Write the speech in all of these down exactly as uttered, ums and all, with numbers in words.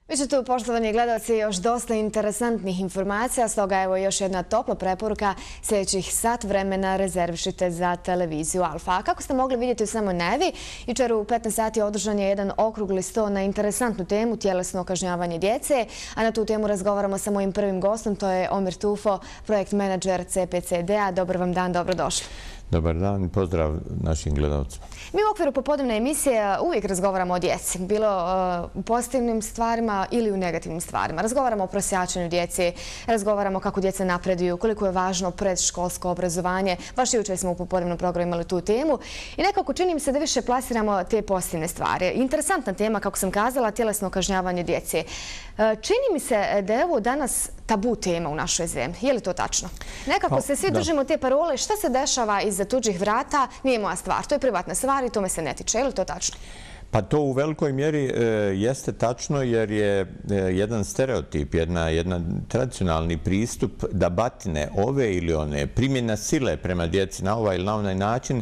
Vi ste tu, poštovani gledalci, još dosta interesantnih informacija, stoga evo još jedna topla preporuka. Sljedećih sat vremena rezervišite za televiziju Alfa. A kako ste mogli vidjeti u samoj najavi, jučer u petnaest sati održan je jedan okrugli sto na interesantnu temu tjelesno kažnjavanje djece, a na tu temu razgovaramo sa mojim prvim gostom, to je Omir Tufo, projekt menadžer C P C D-a. Dobar vam dan, dobrodošli. Dobar dan i pozdrav našim gledalcima. Mi u okviru popodnevne emisije uvijek razgovaramo o djeci, bilo u pozitivnim stvarima ili u negativnim stvarima. Razgovaramo o prosjačenju djeci, razgovaramo kako djeca napreduju, koliko je važno predškolsko obrazovanje. Baš jučer smo u popodnevnom programu imali tu temu i nekako čini mi se da više plasiramo te pozitivne stvari. Interesantna tema, kako sam kazala, tjelesno kažnjavanje djece. Čini mi se da je ovo danas tabu tema u našoj zemlji. Je li to tačno? Nekako se svi držimo te parole, šta se dešava iza tuđih vrata, nije moja stvar. To je privatna stvar i to me se ne tiče. Je li to tačno? Pa to u velikoj mjeri jeste tačno jer je jedan stereotip, jedan tradicionalni pristup da batine ove ili one, primjena sile prema djeci na ovaj ili na onaj način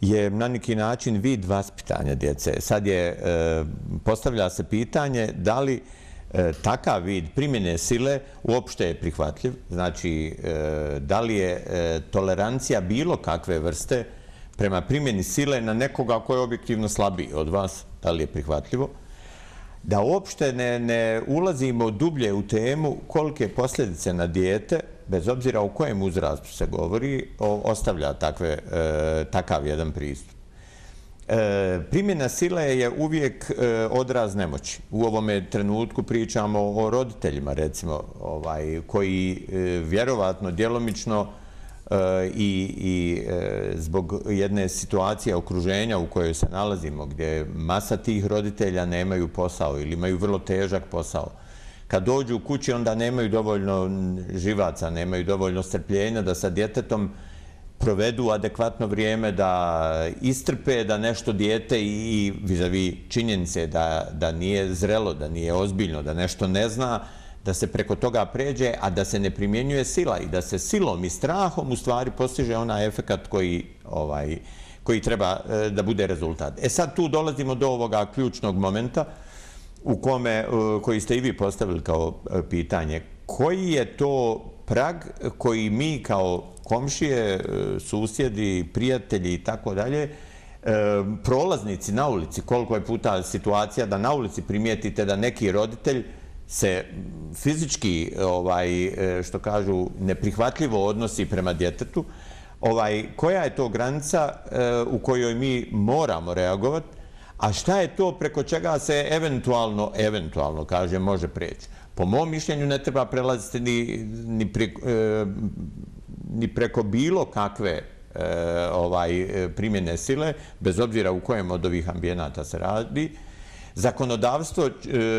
je na neki način vid vaspitanja djece. Sad je, postavlja se pitanje da li takav vid primjene sile uopšte je prihvatljiv. Znači, da li je tolerancija bilo kakve vrste prema primjeni sile na nekoga koji je objektivno slabiji od vas, da li je prihvatljivo? Da uopšte ne ulazimo dublje u temu kolike posljedice na dijete, bez obzira o kojem uzrastu se govori, ostavlja takav jedan pristup. Primjena sile je uvijek odraz nemoći. U ovome trenutku pričamo o roditeljima, recimo, koji vjerovatno djelomično i zbog jedne situacije okruženja u kojoj se nalazimo, gdje masa tih roditelja nemaju posao ili imaju vrlo težak posao. Kad dođu u kući, onda nemaju dovoljno živaca, nemaju dovoljno strpljenja da sa djetetom provedu adekvatno vrijeme, da istrpe da nešto dijete i vizavi činjenice da nije zrelo, da nije ozbiljno, da nešto ne zna, da se preko toga pređe, a da se ne primjenjuje sila i da se silom i strahom u stvari postiže onaj efekat koji treba da bude rezultat. E sad tu dolazimo do ovoga ključnog momenta u kome, koji ste i vi postavili kao pitanje, koji je to prag koji mi kao komšije, susjedi, prijatelji i tako dalje, prolaznici na ulici, koliko je puta situacija da na ulici primijetite da neki roditelj se fizički, što kažu, neprihvatljivo odnosi prema djetetu, koja je to granica u kojoj mi moramo reagovati, a šta je to preko čega se eventualno, eventualno, kažem, može preći. Po mom mišljenju ne treba prelaziti ni preko bilo kakve primjene sile, bez obzira u kojem od ovih ambijenata se radi. Zakonodavstvo,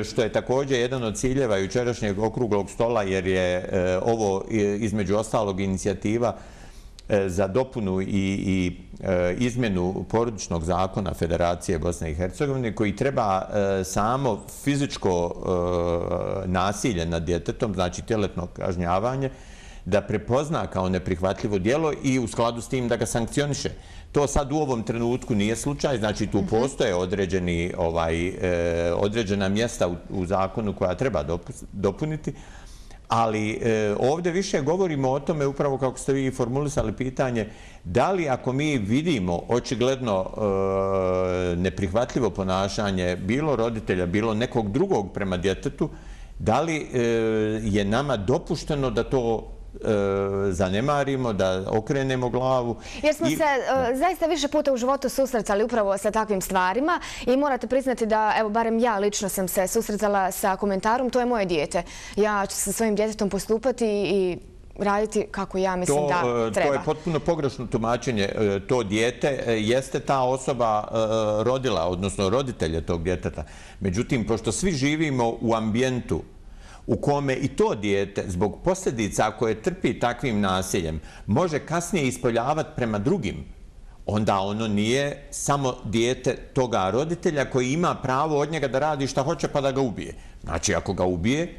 što je također jedan od ciljeva jučerašnjeg okruglog stola, jer je ovo između ostalog inicijativa za dopunu i izmjenu porodičnog zakona Federacije Bosne i Hercegovine, koji treba samo fizičko nasilje nad djetetom, znači tjelesno kažnjavanje, da prepozna kao neprihvatljivo djelo i u skladu s tim da ga sankcioniše. To sad u ovom trenutku nije slučaj, znači tu postoje određena mjesta u zakonu koja treba dopuniti, ali ovdje više govorimo o tome, upravo kako ste vi formulisali pitanje, da li ako mi vidimo očigledno neprihvatljivo ponašanje bilo roditelja, bilo nekog drugog prema djetetu, da li je nama dopušteno da to zanemarimo, da okrenemo glavu. Jer smo se zaista više puta u životu susretali upravo sa takvim stvarima i morate priznati da, evo, barem ja lično sam se susretala sa komentarom, to je moje dijete. Ja ću sa svojim djetetom postupati i raditi kako ja mislim da treba. To je potpuno pogrešno tumačenje. To dijete jeste ta osoba rodila, odnosno roditelje tog djeteta. Međutim, pošto svi živimo u ambijentu u kome i to dijete, zbog posljedica koje trpi takvim nasiljem, može kasnije ispoljavati prema drugim, onda ono nije samo dijete toga roditelja koji ima pravo od njega da radi šta hoće pa da ga ubije. Znači, ako ga ubije,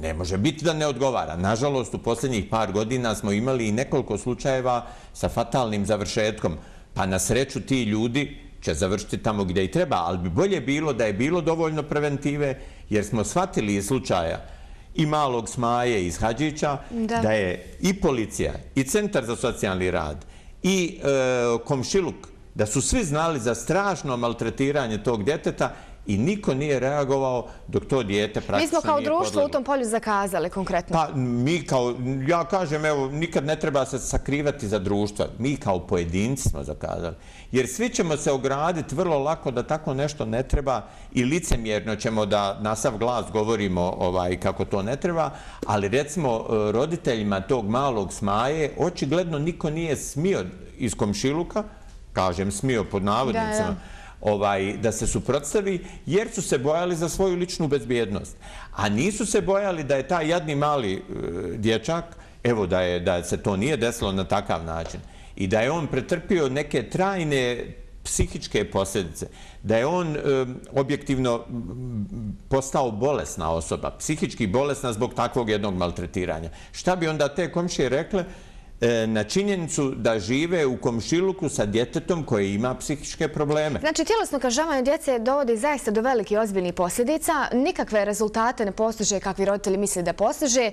ne može biti da ne odgovara. Nažalost, u posljednjih par godina smo imali i nekoliko slučajeva sa fatalnim završetkom. Pa na sreću ti ljudi će završiti tamo gdje i treba, ali bi bolje bilo da je bilo dovoljno preventive, jer smo shvatili iz slučaja i malog Smaje iz Hadžića, da. da je i policija, i Centar za socijalni rad, i e, komšiluk, da su svi znali za strašno maltretiranje tog djeteta i niko nije reagovao dok to dijete praktično nije podleglo. Mi smo kao društvo u tom polju zakazali konkretno. Pa mi kao, ja kažem, evo, nikad ne treba se sakrivati za društva. Mi kao pojedinci smo zakazali. Jer svi ćemo se ograditi vrlo lako da tako nešto ne treba i licemjerno ćemo da na sav glas govorimo ovaj, kako to ne treba, ali recimo roditeljima tog malog Smaje očigledno niko nije smio iz komšiluka, kažem smio pod navodnicama, da, da. Ovaj, da se suprotstavi, jer su se bojali za svoju ličnu bezbjednost. A nisu se bojali da je taj jadni mali e, dječak, evo da, je, da se to nije desilo na takav način, i da je on pretrpio neke trajne psihičke posljedice, da je on e, objektivno postao bolesna osoba, psihički bolesna zbog takvog jednog maltretiranja. Šta bi onda te komšije rekle na činjenicu da žive u komšiluku sa djetetom koje ima psihičke probleme? Znači, tjelesno kažnjavanje djece dovodi zaista do velikih ozbiljnih posljedica. Nikakve rezultate ne postiže kakvi roditelji misle da postiže,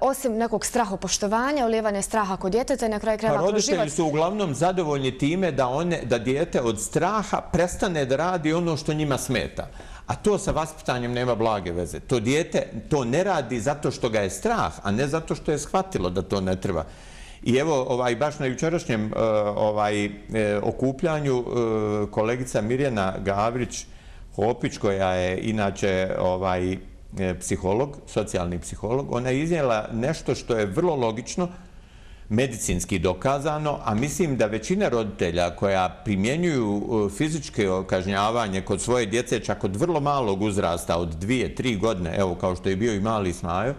osim nekog strahopoštovanja, ulijevanja straha kod djeteta i na kraju krajeva kroz život. Roditelji su uglavnom zadovoljni time da, one, da dijete od straha prestane da radi ono što njima smeta. A to sa vaspitanjem nema blage veze. To dijete to ne radi zato što ga je strah, a ne zato što je shvatilo da to ne treba. I evo, ovaj, baš na jučerašnjem ovaj, okupljanju kolegica Mirjana Gavrić-Hopić, koja je inače ovaj, psiholog, socijalni psiholog, ona je iznijela nešto što je vrlo logično, medicinski dokazano, a mislim da većina roditelja koja primjenjuju fizičke kažnjavanje kod svoje djece, čak od vrlo malog uzrasta, od dvije, tri godine, evo kao što je bio i mali Smajo,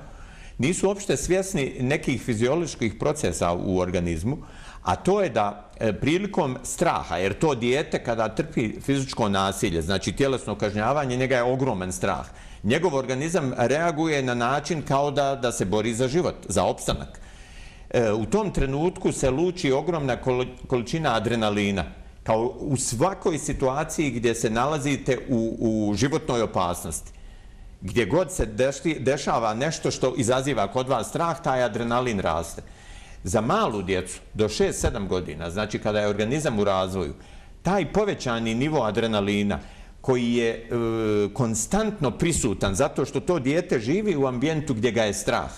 nisu uopšte svjesni nekih fizioloških procesa u organizmu, a to je da prilikom straha, jer to dijete kada trpi fizičko nasilje, znači tjelesno kažnjavanje, njega je ogroman strah. Njegov organizam reaguje na način kao da, da se bori za život, za opstanak. U tom trenutku se luči ogromna količina adrenalina, kao u svakoj situaciji gdje se nalazite u, u životnoj opasnosti. Gdje god se dešava nešto što izaziva kod vas strah, taj adrenalin raste. Za malu djecu do šest sedam godina, znači kada je organizam u razvoju, taj povećani nivo adrenalina koji je e, konstantno prisutan zato što to dijete živi u ambijentu gdje ga je strah,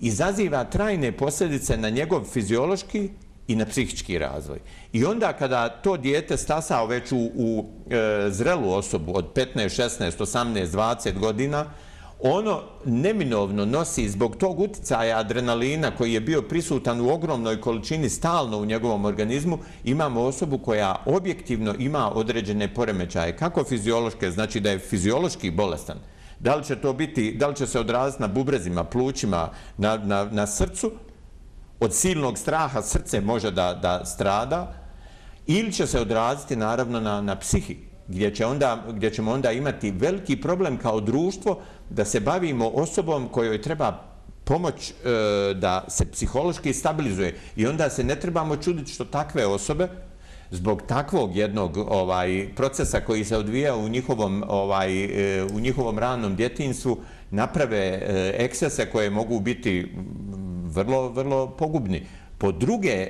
izaziva trajne posljedice na njegov fiziološki i na psihički razvoj. I onda kada to dijete stasao već u, u e, zrelu osobu od petnaest, šesnaest, osamnaest, dvadeset godina, ono neminovno nosi zbog tog uticaja adrenalina koji je bio prisutan u ogromnoj količini stalno u njegovom organizmu, imamo osobu koja objektivno ima određene poremećaje, kako fiziološke, znači da je fiziološki bolestan. Da li će to biti, da li će se odraziti na bubrezima, plućima, na, na, na srcu, od silnog straha srce može da, da strada, ili će se odraziti naravno na, na psihi, gdje, će onda, gdje ćemo onda imati veliki problem kao društvo da se bavimo osobom kojoj treba pomoć e, da se psihološki stabilizuje. I onda se ne trebamo čuditi što takve osobe, zbog takvog jednog ovaj, procesa koji se odvija u njihovom, ovaj, e, u njihovom ranom djetinjstvu, naprave e, ekscese koje mogu biti vrlo, vrlo pogubni. Po druge,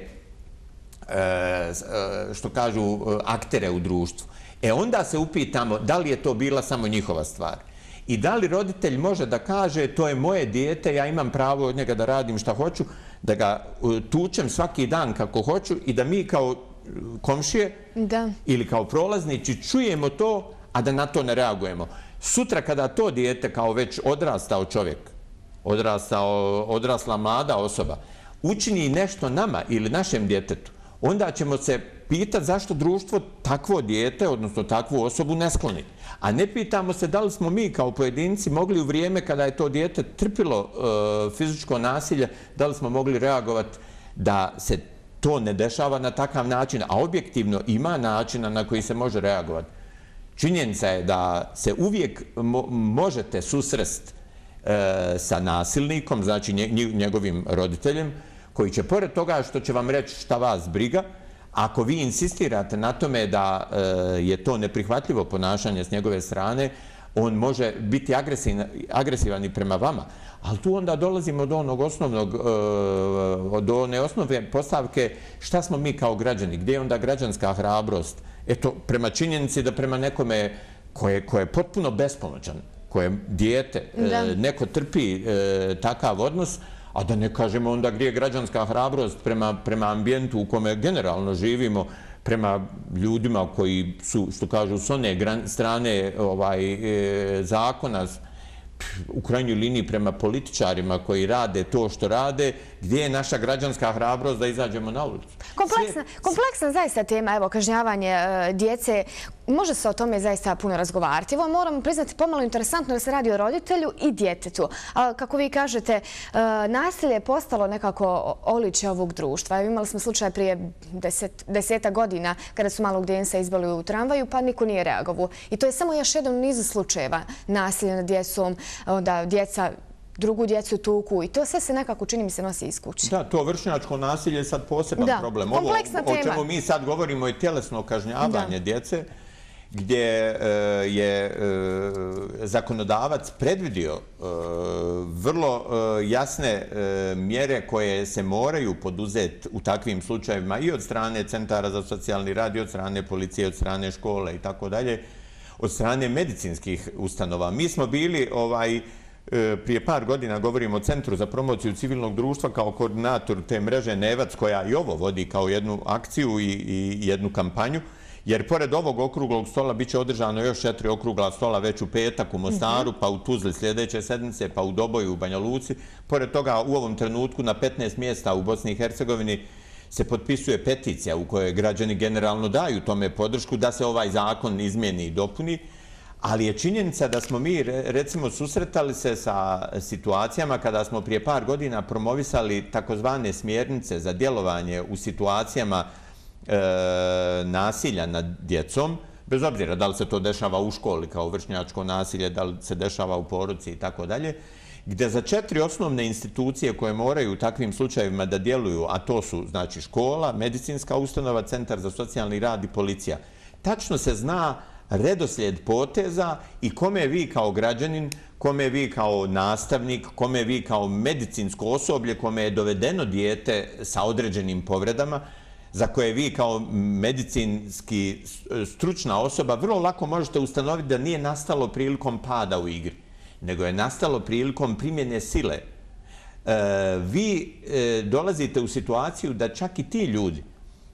što kažu, aktere u društvu. E onda se upitamo da li je to bila samo njihova stvar. I da li roditelj može da kaže to je moje dijete, ja imam pravo od njega da radim šta hoću, da ga tučem svaki dan kako hoću i da mi kao komšije da. ili kao prolaznici čujemo to, a da na to ne reagujemo. Sutra kada to dijete kao već odrastao čovjek, odrastao, odrasla mlada osoba, učini nešto nama ili našem djetetu, onda ćemo se pitati zašto društvo takvo dijete, odnosno takvu osobu, ne skloni. A ne pitamo se da li smo mi kao pojedinci mogli u vrijeme kada je to dijete trpilo e, fizičko nasilje, da li smo mogli reagovati da se to ne dešava na takav način, a objektivno ima načina na koji se može reagovati. Činjenica je da se uvijek mo možete susresti e, sa nasilnikom, znači nje, njegovim roditeljem, koji će pored toga što će vam reći šta vas briga, Ako vi insistirate na tome da je to neprihvatljivo ponašanje s njegove strane, on može biti agresivan i prema vama. Ali tu onda dolazimo do onog osnovnog, do one osnovne postavke šta smo mi kao građani, gdje je onda građanska hrabrost. Eto, prema činjenici da prema nekome koje je potpuno bespomoćan, koje je dijete, neko trpi takav odnos, a da ne kažemo onda gdje je građanska hrabrost prema ambijentu u kome generalno živimo, prema ljudima koji su, što kažu, s one strane zakona, u krajnjoj liniji prema političarima koji rade to što rade, gdje je naša građanska hrabrost da izađemo na ulicu? Kompleksna zaista tema, evo, kažnjavanje djece. Može se o tome zaista puno razgovarati. Evo, moramo priznati pomalo interesantno da se radi o roditelju i djetetu. Kako vi kažete, nasilje je postalo nekako oličje ovog društva. Imali smo slučaj prije deseta godina kada su malog djenca izbali u tramvaju, pa niko nije reagovao. I to je samo još jedan u nizu slučajeva nasilja nad djecom, onda djeca drugu djecu tuku i to sve se nekako, čini mi se, nosi iz kuće. Da, to vršnjačko nasilje je sad poseban problem. Ovo o čemu mi sad govorimo je tjelesno kažnjavanje djece, gdje je zakonodavac predvidio vrlo jasne mjere koje se moraju poduzeti u takvim slučajevima i od strane centara za socijalni rad, i od strane policije, od strane škole i tako dalje, od strane medicinskih ustanova. Mi smo bili ovaj prije par godina, govorimo o Centru za promociju civilnog društva kao koordinator te mreže Nevac, koja i ovo vodi kao jednu akciju i jednu kampanju, jer pored ovog okruglog stola bit će održano još četiri okrugla stola već u petak u Mostaru, pa u Tuzli sljedeće sedmice, pa u Doboju, u Banja Luci. Pored toga, u ovom trenutku na petnaest mjesta u Bosni i Hercegovini se potpisuje peticija u kojoj građani generalno daju tome podršku da se ovaj zakon izmijeni i dopuni. Ali je činjenica da smo mi, recimo, susretali se sa situacijama kada smo prije par godina promovisali takozvane smjernice za djelovanje u situacijama nasilja nad djecom, bez obzira da li se to dešava u školi kao vršnjačko nasilje, da li se dešava u porodici i tako dalje, gdje za četiri osnovne institucije koje moraju u takvim slučajevima da djeluju, a to su, znači, škola, medicinska ustanova, centar za socijalni rad i policija, tačno se zna redoslijed poteza i kome vi kao građanin, kome vi kao nastavnik, kome vi kao medicinsko osoblje, kome je dovedeno dijete sa određenim povredama, za koje vi kao medicinski stručna osoba vrlo lako možete ustanoviti da nije nastalo prilikom pada u igri, nego je nastalo prilikom primjene sile. Vi dolazite u situaciju da čak i ti ljudi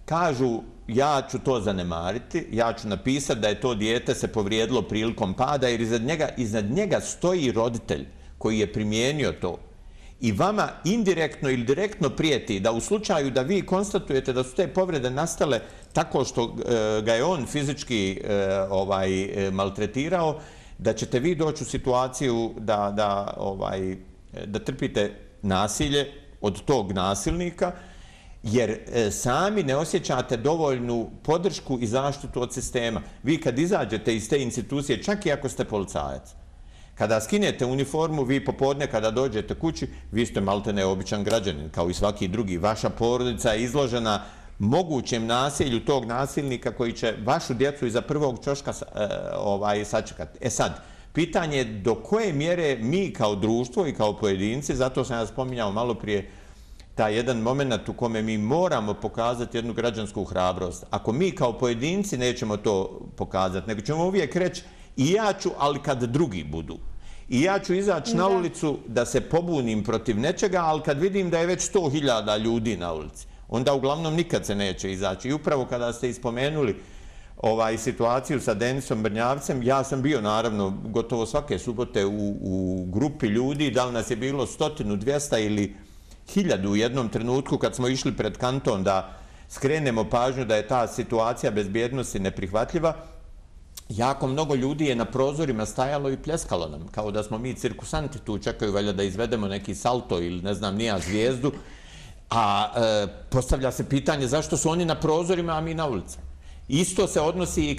kažu ja ću to zanemariti, ja ću napisati da je to dijete se povrijedilo prilikom pada, jer iznad njega, iznad njega stoji roditelj koji je primijenio to. I vama indirektno ili direktno prijeti da u slučaju da vi konstatujete da su te povrede nastale tako što ga je on fizički maltretirao, da ćete vi doći u situaciju da trpite nasilje od tog nasilnika, jer sami ne osjećate dovoljnu podršku i zaštitu od sistema. Vi kad izađete iz te institucije, čak i ako ste policajac, kada skinete uniformu, vi popodne kada dođete kući, vi ste maltene običan građanin, kao i svaki drugi. Vaša porodica je izložena mogućem nasilju tog nasilnika koji će vašu djecu iza prvog ćoška sačekati. E sad, pitanje je do koje mjere mi kao društvo i kao pojedinci, zato sam ja spominjao malo prije taj jedan moment u kome mi moramo pokazati jednu građansku hrabrost. Ako mi kao pojedinci nećemo to pokazati, nego ćemo uvijek reći i ja ću, ali kad drugi budu. I ja ću izaći na ulicu da se pobunim protiv nečega, ali kad vidim da je već sto hiljada ljudi na ulici, onda uglavnom nikad se neće izaći. I upravo kada ste ispomenuli situaciju sa Denisom Brnjavcem, ja sam bio naravno gotovo svake subote u grupi ljudi, da li nas je bilo stotinu, dvijesta ili hiljadu u jednom trenutku kad smo išli pred kanton da skrenemo pažnju da je ta situacija bezbjednosti neprihvatljiva. Jako mnogo ljudi je na prozorima stajalo i pljeskalo nam, kao da smo mi cirkusanti tu, čekaju valjda da izvedemo neki salto ili ne znam nija zvijezdu, a postavlja se pitanje zašto su oni na prozorima, a mi na ulici. Isto se odnosi i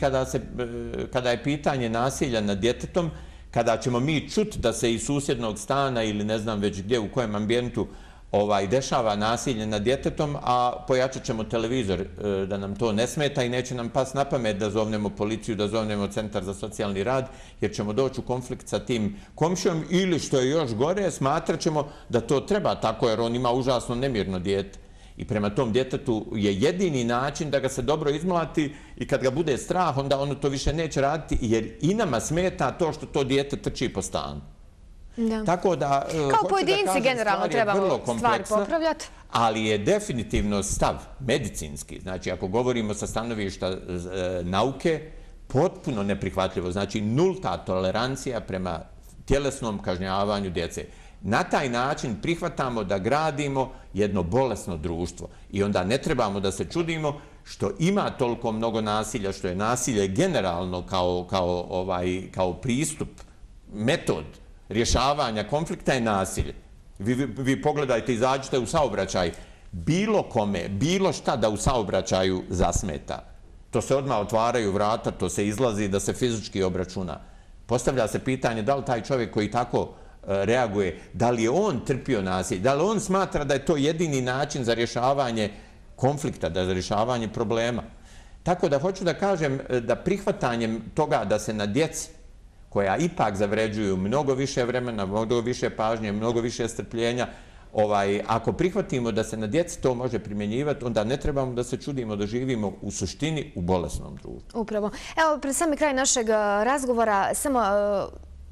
kada je pitanje nasilja nad djetetom, kada ćemo mi čuti da se iz susjednog stana ili ne znam već gdje, u kojem ambijentu ovaj, dešava nasilje nad djetetom, a pojačat ćemo televizor da nam to ne smeta i neće nam pas na pamet da zovnemo policiju, da zovnemo centar za socijalni rad, jer ćemo doći u konflikt sa tim komšijom ili, što je još gore, smatrat ćemo da to treba tako, jer on ima užasno nemirno dijete. I prema tom djetetu je jedini način da ga se dobro izmlati i kad ga bude strah, onda ono to više neće raditi, jer i nama smeta to što to dijete trči po stanu. Tako da, kao pojedinci generalno trebamo stvari popravljati. Ali je definitivno stav medicinski, znači ako govorimo sa stanovišta nauke, potpuno neprihvatljivo. Znači nulta tolerancija prema tjelesnom kažnjavanju djece. Na taj način prihvatamo da gradimo jedno bolesno društvo i onda ne trebamo da se čudimo što ima toliko mnogo nasilja, što je nasilje generalno kao, kao, ovaj, kao pristup, metod rješavanja konflikta je nasilje. Vi, vi, vi pogledajte, izađite u saobraćaj, bilo kome, bilo šta da u saobraćaju zasmeta. To se odmah otvaraju vrata, to se izlazi da se fizički obračuna. Postavlja se pitanje da li taj čovjek koji tako reaguje, da li je on trpio nasilje, da li on smatra da je to jedini način za rješavanje konflikta, da za rješavanje problema. Tako da hoću da kažem da prihvatanjem toga da se na djeci, koja ipak zavređuju mnogo više vremena, mnogo više pažnje, mnogo više strpljenja, ovaj, ako prihvatimo da se na djeci to može primjenjivati, onda ne trebamo da se čudimo da živimo u suštini u bolesnom društvu. Upravo. Evo, pred sami kraj našeg razgovora, samo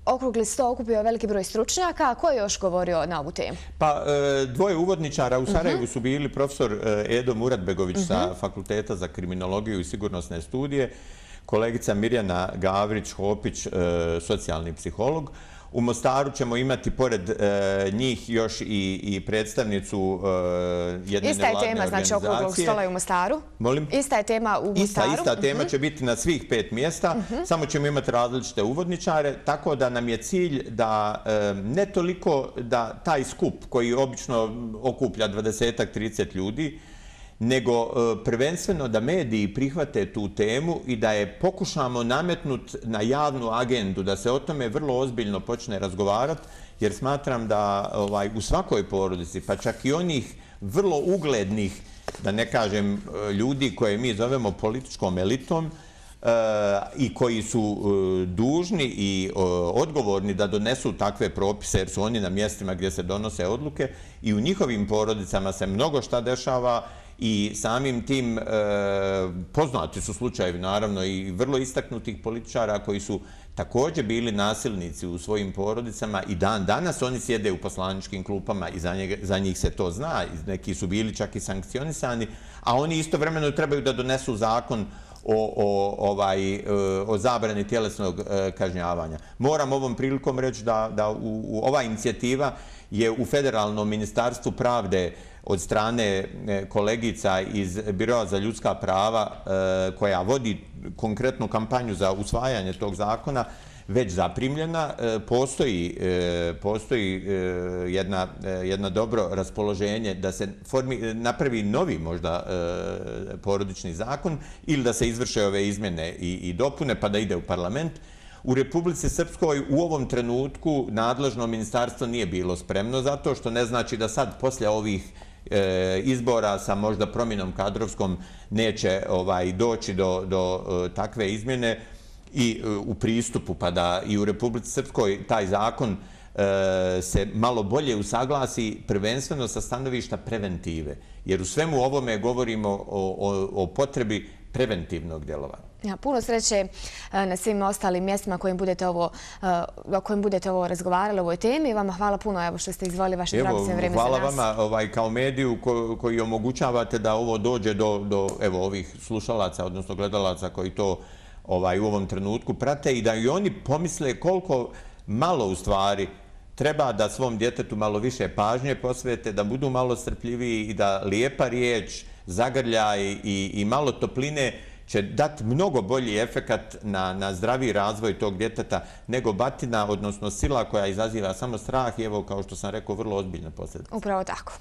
okrugli sto okupio veliki broj stručnjaka. Ko je još govorio na ovu temu? Pa, dvoje uvodničara u Sarajevu su bili profesor Edo Muratbegović sa Fakulteta za kriminologiju i sigurnosne studije, kolegica Mirjana Gavrić-Hopić, socijalni psiholog. U Mostaru ćemo imati pored njih još i predstavnicu jedne nevladne organizacije. Ista je tema, znači, okruglog stola i u Mostaru? Molim? Ista je tema u Mostaru? Ista, ista tema će biti na svih pet mjesta, samo ćemo imati različite uvodničare, tako da nam je cilj da ne toliko da taj skup koji obično okuplja dvadesetak trideset ljudi, nego prvenstveno da mediji prihvate tu temu i da je pokušamo nametnuti na javnu agendu, da se o tome vrlo ozbiljno počne razgovarati, jer smatram da ovaj, u svakoj porodici, pa čak i onih vrlo uglednih, da ne kažem ljudi koje mi zovemo političkom elitom, i koji su dužni i odgovorni da donesu takve propise, jer su oni na mjestima gdje se donose odluke, i u njihovim porodicama se mnogo šta dešava i samim tim poznati su slučajevi, naravno, i vrlo istaknutih političara koji su također bili nasilnici u svojim porodicama i dan danas oni sjede u poslaničkim klupama i za njih se to zna, neki su bili čak i sankcionisani, a oni istovremeno trebaju da donesu zakon O, o, ovaj, o zabrani tjelesnog kažnjavanja. Moram ovom prilikom reći da, da u, u ova inicijativa je u Federalnom ministarstvu pravde od strane kolegica iz Biroa za ljudska prava koja vodi konkretnu kampanju za usvajanje tog zakona već zaprimljena. Postoji, postoji jedna, jedna dobro raspoloženje da se formi, napravi novi možda porodični zakon ili da se izvrše ove izmjene i, i dopune pa da ide u parlament. U Republici Srpskoj u ovom trenutku nadležno ministarstvo nije bilo spremno zato što ne znači da sad poslije ovih izbora sa možda promjenom kadrovskom neće ovaj, doći do, do takve izmjene i u pristupu, pa da i u Republici Srpskoj taj zakon se malo bolje usaglasi prvenstveno sa stanovišta preventive. Jer u svemu ovome govorimo o, o, o potrebi preventivnog djelovanja. Ja, puno sreće na svim ostalim mjestima kojim budete ovo, o kojim budete ovo razgovarali o ovoj temi. Vama hvala puno evo, što ste izdvojili vaše dragocjeno vrijeme za nas. Hvala vama ovaj, kao mediju ko, koji omogućavate da ovo dođe do, do evo, ovih slušalaca, odnosno gledalaca koji to ovaj, u ovom trenutku prate i da i oni pomisle koliko malo u stvari treba da svom djetetu malo više pažnje posvete, da budu malo strpljiviji i da lijepa riječ, zagrljaj i, i malo topline će dati mnogo bolji efekat na, na zdravi razvoj tog djeteta nego batina, odnosno sila koja izaziva samo strah i evo, kao što sam rekao, vrlo ozbiljne posljedice. Upravo tako.